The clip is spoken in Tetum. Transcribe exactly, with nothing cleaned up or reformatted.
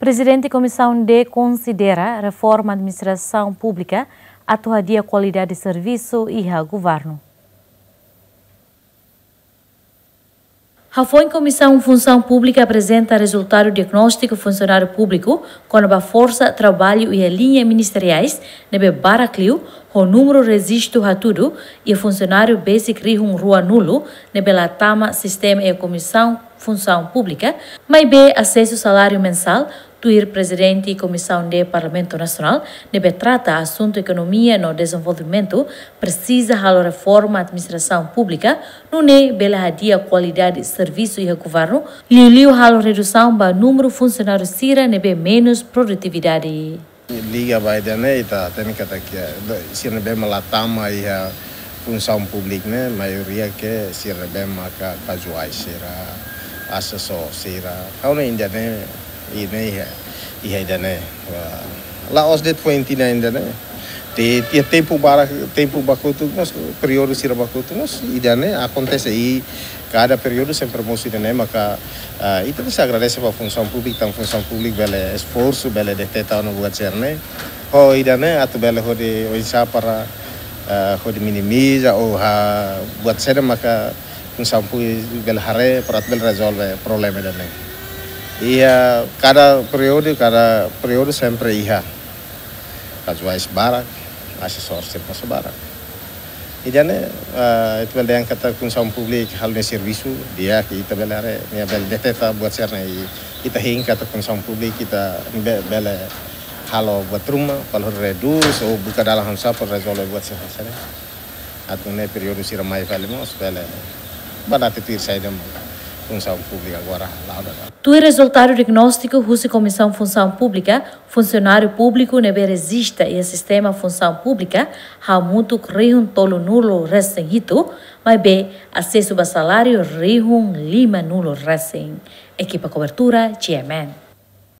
Prezidente Komisaun D konsidera reforma administrasaun públika atu hadi'a kualidade servisu iha governu. Hafoin Komisaun Funsaun Públika aprezenta rezultadu diagnóstiku funsionáriu públiku kona-ba forsa traballu iha liña ministeriais ne'ebé barak liu, ho númeru rejistu hatudu iha funsionáriu besik rihun ruanulu ne'ebé la tama sistema iha Komisaun Funsaun Públika, maibé asesu saláriu mensál, tuir Prezidente Komisaun D Parlamentu Nasionál ne'ebé trata asuntu ekonomia no dezenvolvimentu, presiza halo reforma administrasaun públika, nune'e bele hadi'a kualidade servisu iha governu, liuliu halo redusaun ba númeru funsionáriu sira ne'ebé menus produtividade. Liga ba ida-ne'e, ita hatene katak, sira ne'ebé mak la tama iha funsaun públika ne'e, maioria ke sira ne'ebé maka kazuais sira, asesór sira. Ha'u hanoin ida-ne'e, ida-ne'e iha, iha ida-ne'e. Ah, la'ós de'it foin tinan ida-ne'e. Te, te tempu barak, tempu ba kotuk mós, períodu sira ba kotuk mós, ida-ne'e akontese iha kada períodu sempre mosu ida-ne'e, maka, ah, ita tenke agradese ba Funsaun Públika, tanba Funsaun Públika bele esforsu, bele deteta ona buat sira-ne'e. Ho ida-ne'e atu bele hodi oinsá para, ah, hodi minimiza ou halo buat sira maka Funsaun Públika bele haree, para bele rezolve problema ida-ne'e. Iha kada períodu, kada períodu sempre iha kazuais barak, asesór sira mós barak. Ida-ne'e, ah, ita bele dehan katak Funsaun Públika halo nia servisu di'ak, ita bele haree, nia bele deteta buat sira-ne'e, ita hein katak Funsaun Públika ita be-, bele halo buat ruma, para redús ou buka dalan oinsá para rezolve buat sira-ne'e. Atu nune'e períodu sira mai fali mós bele banati tuir saida mak Funsaun Públika agora la'o daudaun. Tuir rezultadu diagnóstiku husi Komisaun Funsaun Públika, funsionáriu públiku ne'ebé rejista iha sistema Funsaun Públika hamutuk rihun tolunulu resin hitu, maibé asesu ba saláriu rihun limanulu resin. Ekipa kobertura, G M N.